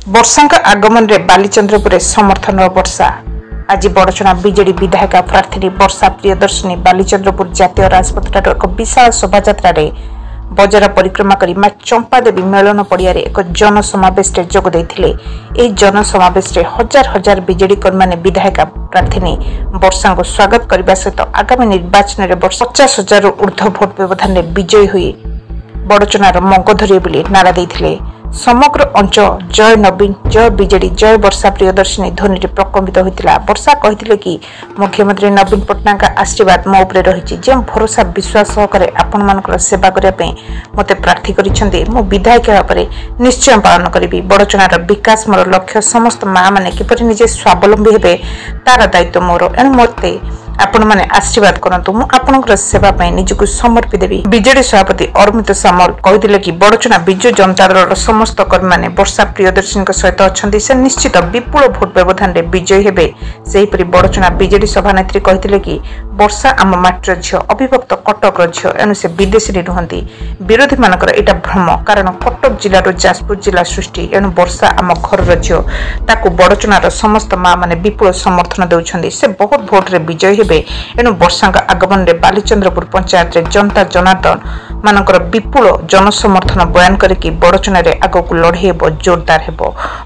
ବର୍ଷାଙ୍କ ଆଗମନରେ ବାଲିଚନ୍ଦ୍ରପୁରରେ ସମର୍ଥନର ବର୍ଷା। ଆଜି ବଡ଼ଚଣା ବିଜେଡି ବିଧାୟିକା ପ୍ରାର୍ଥିନୀ ବର୍ଷା ପ୍ରିୟଦର୍ଶିନୀ ବାଲିଚନ୍ଦ୍ରପୁର ଜାତୀୟ ରାଜପଥଠାରୁ ଏକ ବିଶାଳ ଶୋଭାଯାତ୍ରାରେ ବଜାର ପରିକ୍ରମା କରି ମା ଚମ୍ପାଦେବୀ ମେଳନ ପଡ଼ିଆରେ ଏକ ଜନସମାବେଶରେ ଯୋଗ ଦେଇଥିଲେ। ଏହି ଜନସମାବେଶରେ ହଜାର ହଜାର ବିଜେଡି କର୍ମୀମାନେ ବିଧାୟିକା ପ୍ରାର୍ଥିନୀ ବର୍ଷାଙ୍କୁ ସ୍ୱାଗତ କରିବା ସହିତ ଆଗାମୀ ନିର୍ବାଚନରେ 50,000ରୁ ଉର୍ଦ୍ଧ୍ୱ ଭୋଟ ବ୍ୟବଧାନରେ ବିଜୟୀ ହୋଇ ବଡ଼ଚଣାର ମଙ୍ଗ ଧରିବେ ବୋଲି ନାରା ଦେଇଥିଲେ। ସମଗ୍ର ଅଞ୍ଚଳ ଜୟ ନବୀନ, ଜୟ ବିଜେଡି, ଜୟ ବର୍ଷା ପ୍ରିୟଦର୍ଶିନୀ ଧ୍ୱନିରେ ପ୍ରକମ୍ପିତ ହୋଇଥିଲା। ବର୍ଷା କହିଥିଲେ କି ମୁଖ୍ୟମନ୍ତ୍ରୀ ନବୀନ ପଟ୍ଟନାୟକଙ୍କ ଆଶୀର୍ବାଦ ମୋ ଉପରେ ରହିଛି। ଯେଉଁ ଭରସା ବିଶ୍ୱାସ ସହକାରେ ଆପଣମାନଙ୍କର ସେବା କରିବା ପାଇଁ ମୋତେ ପ୍ରାର୍ଥୀ କରିଛନ୍ତି, ମୁଁ ବିଧାୟକ ହେବା ପରେ ନିଶ୍ଚୟ ପାଳନ କରିବି। ବଡ଼ଚଣାର ବିକାଶ ମୋର ଲକ୍ଷ୍ୟ। ସମସ୍ତ ମାଆମାନେ କିପରି ନିଜେ ସ୍ୱାବଲମ୍ବୀ ହେବେ ତାର ଦାୟିତ୍ୱ ମୋର। ଏଣୁ ମୋତେ ଆପଣମାନେ ଆଶୀର୍ବାଦ କରନ୍ତୁ, ମୁଁ ଆପଣଙ୍କର ସେବା ପାଇଁ ନିଜକୁ ସମର୍ପି ଦେବି। ବିଜେଡି ସଭାପତି ଅରୁମିତ ସାମଲ କହିଥିଲେ କି ବଡ଼ଚଣା ବିଜୁ ଜନତା ଦଳର ସମସ୍ତ କର୍ମୀମାନେ ବର୍ଷା ପ୍ରିୟଦର୍ଶିନୀଙ୍କ ସହିତ ଅଛନ୍ତି, ସେ ନିଶ୍ଚିତ ବିପୁଳ ଭୋଟ ବ୍ୟବଧାନରେ ବିଜୟୀ ହେବେ। ସେହିପରି ବଡ଼ଚଣା ବିଜେଡି ସଭାନେତ୍ରୀ କହିଥିଲେ କି ବର୍ଷା ଆମ ମାଟିର ଝିଅ, ଅବିଭକ୍ତ କଟକର ଝିଅ, ଏଣୁ ସେ ବିଦେଶିନୀ ନୁହନ୍ତି। ବିରୋଧୀମାନଙ୍କର ଏଇଟା ଭ୍ରମ, କାରଣ କଟକ ଜିଲ୍ଲାରୁ ଯାଜପୁର ଜିଲ୍ଲା ସୃଷ୍ଟି। ଏଣୁ ବର୍ଷା ଆମ ଘରର ଝିଅ, ତାକୁ ବଡ଼ଚଣାର ସମସ୍ତ ମା ମାନେ ବିପୁଳ ସମର୍ଥନ ଦେଉଛନ୍ତି, ସେ ବହୁତ ଭୋଟରେ ବିଜୟୀ ହେବେ। ଏଣୁ ବର୍ଷାଙ୍କ ଆଗମନରେ ବାଲିଚନ୍ଦ୍ରପୁର ପଞ୍ଚାୟତରେ ଜନତା ଜନାର୍ଦ୍ଦନ ମାନଙ୍କର ବିପୁଳ ଜନସମର୍ଥନ ବୟାନ କରିକି ବଡ଼ଚଣାରେ ଆଗକୁ ଲଢ଼େଇ ହେବ, ଜୋରଦାର ହେବ।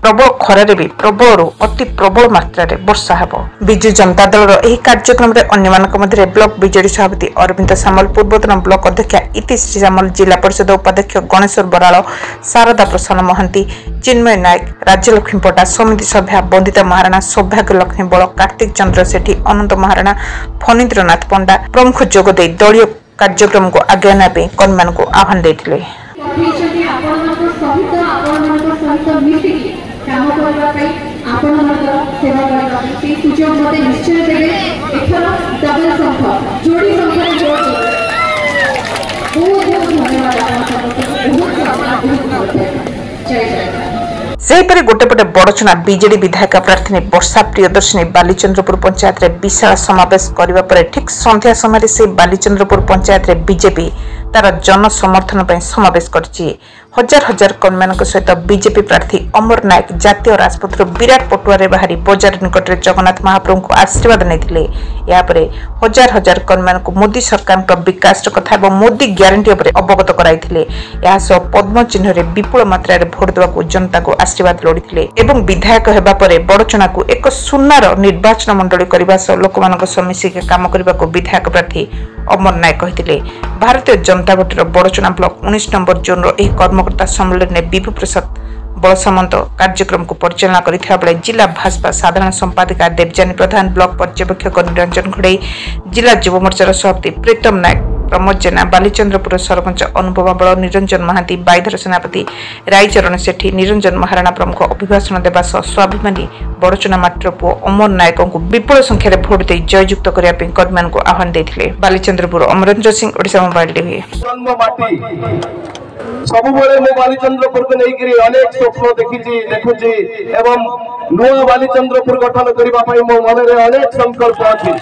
ପ୍ରବଳ ଖରାରେ ବି ପ୍ରବଳରୁ ଅତି ପ୍ରବଳ ମାତ୍ରାରେ ବର୍ଷା ହେବ। ବିଜୁ ଜନତା ଦଳର ଏହି କାର୍ଯ୍ୟକ୍ରମରେ ଅନ୍ୟମାନଙ୍କ ମଧ୍ୟରେ ବ୍ଲକ ବିଜେଡି ସଭାପତି ଅରବିନ୍ଦ ସାମଲ, ପୂର୍ବତନ ବ୍ଲକ ଅଧ୍ୟକ୍ଷା ଇତିଶ୍ରୀ ସାମଲ, ଜିଲ୍ଲା ପରିଷଦ ଉପାଧ୍ୟକ୍ଷ ଗଣେଶ୍ୱର ବରାଳ, ଶାରଦା ପ୍ରସନ୍ନ ମହାନ୍ତି, ଚିନ୍ମୟ ନାୟକ, ରାଜ୍ୟଲକ୍ଷ୍ମୀ ପଟ୍ଟା, ସମିତି ସଭ୍ୟା ବନ୍ଦିତା ମହାରଣା, ସୌଭାଗ୍ୟ ଲକ୍ଷ୍ମୀ ବଳ, କାର୍ତ୍ତିକ ଚନ୍ଦ୍ର ସେଠୀ, ଅନନ୍ତ ମହାରଣା, ଫଣୀନ୍ଦ୍ରନାଥ ପଣ୍ଡା ପ୍ରମୁଖ ଯୋଗ ଦେଇ ଦଳୀୟ କାର୍ଯ୍ୟକ୍ରମକୁ ଆଗେଇ ନେବା ପାଇଁ କର୍ମୀମାନଙ୍କୁ ଆହ୍ୱାନ ଦେଇଥିଲେ। ପଠେଇଛନ୍ତି ଆପଣମାନଙ୍କ ସହିତ, ଆପଣମାନଙ୍କ ସହିତ ମିଶିକି କାମ କରିବା ପାଇଁ, ଆପଣମାନଙ୍କର ସେବା କରିବା ପାଇଁ, ସେଇ ସୁଯୋଗ ମୋତେ ନିଶ୍ଚୟ ଦେବେ। ଏଥର ଡବଲ ଶଙ୍ଖ, ଯୋଡ଼ି ଶଙ୍ଖରେ ଭୋଟ ଦେବେ। ବହୁତ ବହୁତ ଧନ୍ୟବାଦ ଆପଣ ସମସ୍ତଙ୍କୁ, ବହୁତ ସମ୍ମାନ, ବହୁତ ଭଲ ପାଇବା। ଜୟ ଜଗନ୍ନାଥ। ସେହିପରି ଗୋଟେ ପଟେ ବଡ଼ଚଣା ବିଜେଡି ବିଧାୟିକା ପ୍ରାର୍ଥିନୀ ବର୍ଷା ପ୍ରିୟଦର୍ଶିନୀ ବାଲିଚନ୍ଦ୍ରପୁର ପଞ୍ଚାୟତରେ ବିଶାଳ ସମାବେଶ କରିବା ପରେ ଠିକ୍ ସନ୍ଧ୍ୟା ସମୟରେ ସେ ବାଲିଚନ୍ଦ୍ରପୁର ପଞ୍ଚାୟତରେ ବିଜେପି ତାର ଜନସମର୍ଥନ ପାଇଁ ସମାବେଶ କରିଛି। ହଜାର ହଜାର କର୍ମୀମାନଙ୍କ ସହିତ ବିଜେପି ପ୍ରାର୍ଥୀ ଅମର ନାୟକ ଜାତୀୟ ରାଜପଥରୁ ବିରାଟ ପଟୁଆରେ ବାହାରି ବଜାର ନିକଟରେ ଜଗନ୍ନାଥ ମହାପ୍ରଭୁଙ୍କୁ ଆଶୀର୍ବାଦ ନେଇଥିଲେ। ଏହାପରେ ହଜାର ହଜାର କର୍ମୀମାନଙ୍କୁ ମୋଦି ସରକାରଙ୍କ ବିକାଶର କଥା ଏବଂ ମୋଦି ଗ୍ୟାରେଣ୍ଟି ଉପରେ ଅବଗତ କରାଇଥିଲେ। ଏହା ସହ ପଦ୍ମ ଚିହ୍ନରେ ବିପୁଳ ମାତ୍ରାରେ ଭୋଟ ଦେବାକୁ ଜନତାଙ୍କୁ ଆଶୀର୍ବାଦ ଲୋଡ଼ିଥିଲେ ଏବଂ ବିଧାୟକ ହେବା ପରେ ବଡ଼ଚଣାକୁ ଏକ ସୁନାର ନିର୍ବାଚନ ମଣ୍ଡଳୀ କରିବା ସହ ଲୋକମାନଙ୍କ ସହ ମିଶିକି କାମ କରିବାକୁ ବିଧାୟକ ପ୍ରାର୍ଥୀ ଅମର ନାୟକ କହିଥିଲେ। ଭାରତୀୟ ଜନତା ପାର୍ଟିର ବଡ଼ଚଣା ବ୍ଲକ 19 ନମ୍ବର ଜୋନ୍ର ଏହି କର୍ମକର୍ତ୍ତା ସମ୍ମିଳନୀରେ ବିଭୁ ପ୍ରସାଦ ବଳସାମନ୍ତ କାର୍ଯ୍ୟକ୍ରମକୁ ପରିଚାଳନା କରିଥିବା ବେଳେ ଜିଲ୍ଲା ଭାଜପା ସାଧାରଣ ସମ୍ପାଦିକା ଦେବଯାନୀ ପ୍ରଧାନ, ବ୍ଲକ ପର୍ଯ୍ୟବେକ୍ଷକ ନିରଞ୍ଜନ ଘଡ଼େଇ, ଜିଲ୍ଲା ଯୁବମୋର୍ଚ୍ଚାର ସଭାପତି ପ୍ରୀତମ ନାୟକ, ପ୍ରମୋଦ ଜେନା, ବାଲିଚନ୍ଦ୍ରପୁର ସରପଞ୍ଚ ଅନୁପମା ବଳ, ନିରଞ୍ଜନ ମହାନ୍ତି, ବାଇଧର ସେନାପତି, ରାଇଚରଣ ସେଠୀ, ନିରଞ୍ଜନ ମହାରଣା ପ୍ରମୁଖ ଅଭିଭାଷଣ ଦେବା ସହ ସ୍ୱାଭିମାନୀ ବଡ଼ଚଣା ମାଟିର ପୁଅ ଅମର ନାୟକଙ୍କୁ ବିପୁଳ ସଂଖ୍ୟାରେ ଭୋଟ ଦେଇ ଜୟଯୁକ୍ତ କରିବା ପାଇଁ କର୍ମୀମାନଙ୍କୁ ଆହ୍ୱାନ ଦେଇଥିଲେ। Balichandrapur Amarendra Singh, Odisha mobile TV. ଜନ୍ମ ମାଟି, ସବୁବେଳେ ମୁଁ ବାଲିଚନ୍ଦ୍ରପୁରକୁ ନେଇକିରି ଅନେକ ସ୍ୱପ୍ନ ଦେଖିଛି, ଦେଖୁଛି ଏବଂ ନୂଆ ବାଲିଚନ୍ଦ୍ରପୁର ଗଠନ କରିବା ପାଇଁ ମୋ ମନରେ ଅନେକ ସଂକଳ୍ପ ଅଛି।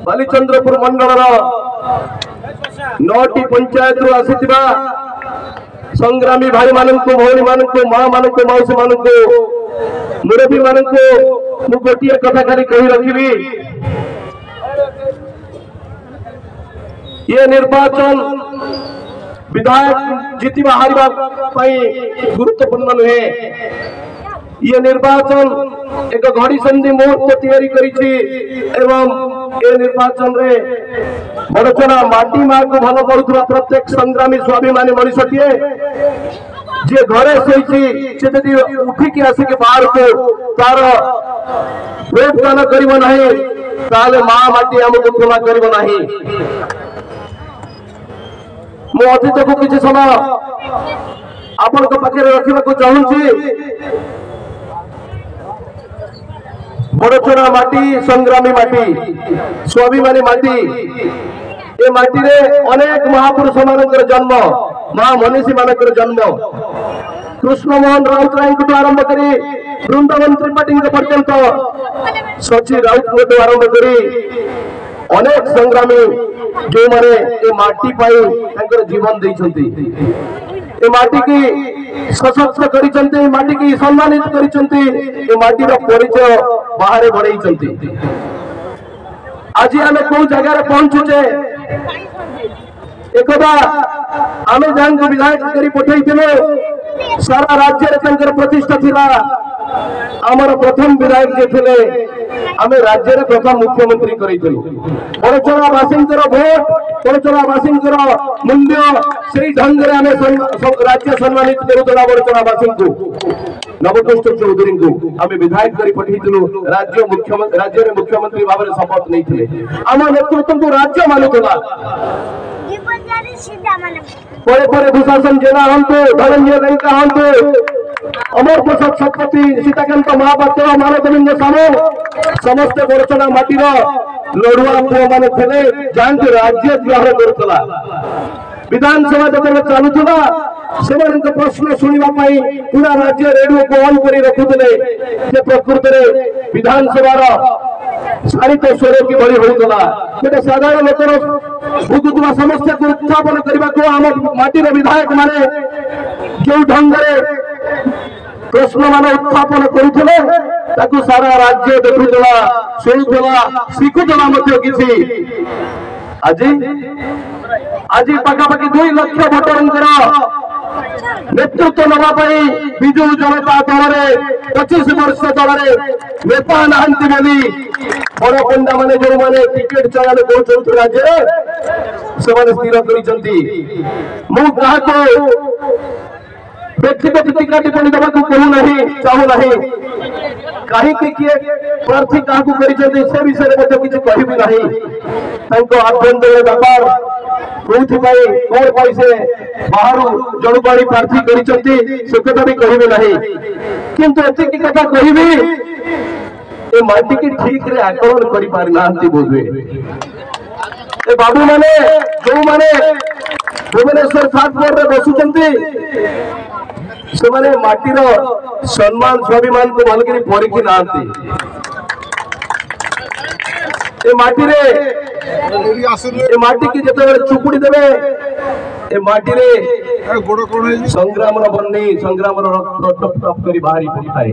ବାଲିଚନ୍ଦ୍ରପୁର ମଣ୍ଡଳର 9ଟି ପଞ୍ଚାୟତରୁ ଆସିଥିବା ସଂଗ୍ରାମୀ ଭାଇମାନଙ୍କୁ, ଭଉଣୀମାନଙ୍କୁ, ମା ମାନଙ୍କୁ, ମାଉସୀ ମାନଙ୍କୁ, ମୁରବୀ ମାନଙ୍କୁ ମୁଁ ଗୋଟିଏ କଥା ଖାଲି କହି ରଖିବି, ଇଏ ନିର୍ବାଚନ ବିଧାୟକ ଜିତିବା ହାରିବା ପାଇଁ ଗୁରୁତ୍ୱପୂର୍ଣ୍ଣ ନୁହେଁ। ଇଏ ନିର୍ବାଚନ ଏକ ଘଡ଼ିସନ୍ଧି ମୁହୂର୍ତ୍ତ ତିଆରି କରିଛି ଏବଂ ଏ ନିର୍ବାଚନରେ ବଡ଼ଚଣା ମାଟି ମାକୁ ଭଲ ପାଉଥିବା ପ୍ରତ୍ୟେକ ସଂଗ୍ରାମୀ ସ୍ୱାଭିମାନୀ ମଣିଷଟିଏ ଯିଏ ଘରେ ଶୋଇଛି, ସେ ଯଦି ଉଠିକି ଆସିକି ବାହାରକୁ ତାର ଭୋଟ ଦାନ କରିବ ନାହିଁ, ତାହେଲେ ମା ମାଟି ଆମକୁ କ୍ଷମା କରିବ ନାହିଁ। ମୁଁ ଅତୀତକୁ କିଛି ସମୟ ଆପଣଙ୍କ ପାଖରେ ରଖିବାକୁ ଚାହୁଁଛି। ବଡ଼ଚଣା ମାଟି ସଂଗ୍ରାମୀ ମାଟି, ସ୍ୱାଭିମାନୀ ମାଟି। ଏ ମାଟିରେ ଅନେକ ମହାପୁରୁଷ ମାନଙ୍କର ଜନ୍ମ, ମା ମନୀଷୀ ମାନଙ୍କର ଜନ୍ମ। କୃଷ୍ଣମୋହନ ରାଉତରାୟଙ୍କଠୁ ଆରମ୍ଭ କରି ବୃନ୍ଦାବନ ତ୍ରିପାଠୀଙ୍କ ପର୍ଯ୍ୟନ୍ତ, ସଚି ରାଉତଙ୍କଠୁ ଆରମ୍ଭ କରି ଅନେକ ସଂଗ୍ରାମୀ ଯେଉଁମାନେ ଏ ମାଟି ପାଇଁ ତାଙ୍କର ଜୀବନ ଦେଇଛନ୍ତି, ଏ ମାଟିକି ସଶକ୍ତ କରିଛନ୍ତି, ଏ ମାଟିକି ସମ୍ମାନିତ କରିଛନ୍ତି, ଏ ମାଟିର ପରିଚୟ ବାହାରେ ବଢେଇଛନ୍ତି। ଆଜି ଆମେ କୋଉ ଜାଗାରେ ପହଞ୍ଚୁଛେ, ଏକଦା ଆମେ ଯାହାଙ୍କୁ ବିଧାୟକ କରି ପଠେଇଥିଲୁ ସାରା ରାଜ୍ୟରେ ତାଙ୍କର ପ୍ରତିଷ୍ଠା ଥିଲା। ଆମର ପ୍ରଥମ ବିଧାୟକ ଯିଏ ଥିଲେ ଆମେ ରାଜ୍ୟରେ ପ୍ରଥମ ମୁଖ୍ୟମନ୍ତ୍ରୀ କରିଥିଲୁ। ବଡ଼ଚଣାବାସୀଙ୍କର ଭୋଟ, ବଡ଼ଚଣାବାସୀଙ୍କର ମୂଲ୍ୟ ସେଇ ଢଙ୍ଗରେ ଆମେ ରାଜ୍ୟ ସମ୍ମାନିତ କରୁଥିଲା। ବଡ଼ଚଣାବାସୀଙ୍କୁ ନବକୃଷ୍ଣ ଚୌଧୁରୀଙ୍କୁ ଆମେ ବିଧାୟକ କରି ପଠେଇଥିଲୁ, ରାଜ୍ୟ ମୁଖ୍ୟମନ୍ତ୍ରୀ, ରାଜ୍ୟରେ ମୁଖ୍ୟମନ୍ତ୍ରୀ ଭାବରେ ଶପଥ ନେଇଥିଲେ। ଆମ ନେତୃତ୍ୱଙ୍କୁ ରାଜ୍ୟ ମାନୁଥିଲା। ପରେ ପରେ ଦୁଶାସନ ଜେନା ହୁଅନ୍ତୁ, ଧନଞ୍ଜୟ ଲେଙ୍କା ହୁଅନ୍ତୁ, ଅମର ପ୍ରସାଦ ଶତପଥୀ, ସୀତାକାନ୍ତ ମହାପାତ୍ର, ମାନଗୋବିନ୍ଦ ସାମଲ, ସମସ୍ତେ ବଡ଼ଚଣା ମାଟିର ଲଢୁଆ ପୁଅମାନେ ଥିଲେ, ଯାହାଙ୍କୁ ରାଜ୍ୟ ଗ୍ରହଣ କରୁଥିଲା। ବିଧାନସଭା ଯେତେବେଳେ ଚାଲୁଥିଲା ସେମାନଙ୍କ ପ୍ରଶ୍ନ ଶୁଣିବା ପାଇଁ ପୁରା ରାଜ୍ୟ ରେଡିଓକୁ ଅନ୍ କରି ରଖୁଥିଲେ ଯେ ପ୍ରକୃତରେ ବିଧାନସଭାର ଶାଣିତ ସ୍ୱର କିଭଳି ହେଉଥିଲା। ଗୋଟେ ସାଧାରଣ ଲୋକର ଭୋଗୁଥିବା ସମସ୍ୟାକୁ ଉତ୍ଥାପନ କରିବାକୁ ଆମ ମାଟିର ବିଧାୟକ ମାନେ ଯେଉଁ ଢଙ୍ଗରେ ପ୍ରଶ୍ନମାନ ଉତ୍ଥାପନ କରୁଥିଲେ ତାକୁ ସାରା ରାଜ୍ୟ ଦେଖୁଥିଲା, ଶୁଣୁଥିଲା, ଶିଖୁଥିଲା ମଧ୍ୟ କିଛି। ଆଜି ଆଜି ପାଖାପାଖି 2 ଲକ୍ଷ ଭୋଟରଙ୍କର ନେତୃତ୍ୱ ନେବା ପାଇଁ ବିଜୁ ଜନତା ଦଳରେ 25 ବର୍ଷ ଦଳରେ ନେତା ନାହାନ୍ତି ବୋଲି ବଡ ପଣ୍ଡା ମାନେ ଯୋଉମାନେ ଟିକେଟ ଚୟନ କରୁଛନ୍ତି ରାଜ୍ୟରେ ସେମାନେ ସ୍ଥିର କରିଛନ୍ତି। ମୁଁ କାହାକୁ ବ୍ୟକ୍ତିଗତ ଟୀକା ଟିପ୍ପଣୀ ଦେବାକୁ କହୁନାହିଁ, ଚାହୁଁନାହିଁ। କାହିଁକି କିଏ ପ୍ରାର୍ଥୀ କାହାକୁ କରିଛନ୍ତି ସେ ବିଷୟରେ ମଧ୍ୟ କିଛି କହିବି ନାହିଁ। ତାଙ୍କ ଆଭ୍ୟନ୍ତରୀଣ ବ୍ୟାପାର, କୋଉଥିପାଇଁ କଣ ପାଇଁ ସେ ବାହାରୁ ଜଣକୁ ଆଣି ପ୍ରାର୍ଥୀ କରିଛନ୍ତି ସେ କଥା ବି କହିବି ନାହିଁ। କିନ୍ତୁ ଏତିକି କଥା କହିବି, ଏ ମାଟିକି ଠିକରେ ଆକଳନ କରିପାରିନାହାନ୍ତି ବୋଧହୁଏ ଏ ବାବୁମାନେ ଯୋଉମାନେ ଭୁବନେଶ୍ୱର ଥାର୍ଡ ଫ୍ଲୋରରେ ବସୁଛନ୍ତି। ସେମାନେ ମାଟିର ସମ୍ମାନ ସ୍ୱାଭିମାନକୁ ଭଲକରି ପରଖି ନାହାନ୍ତି। ଏ ମାଟିରେ, ଏ ମାଟିକି ଯେତେବେଳେ ଚୁପୁଡି ଦେବେ, ଏ ମାଟିରେ ସଂଗ୍ରାମର ବନ୍ନି, ସଂଗ୍ରାମର ରକ୍ତ ଟପ ଟପ କରି ବାହାରି ପଡିଥାଏ।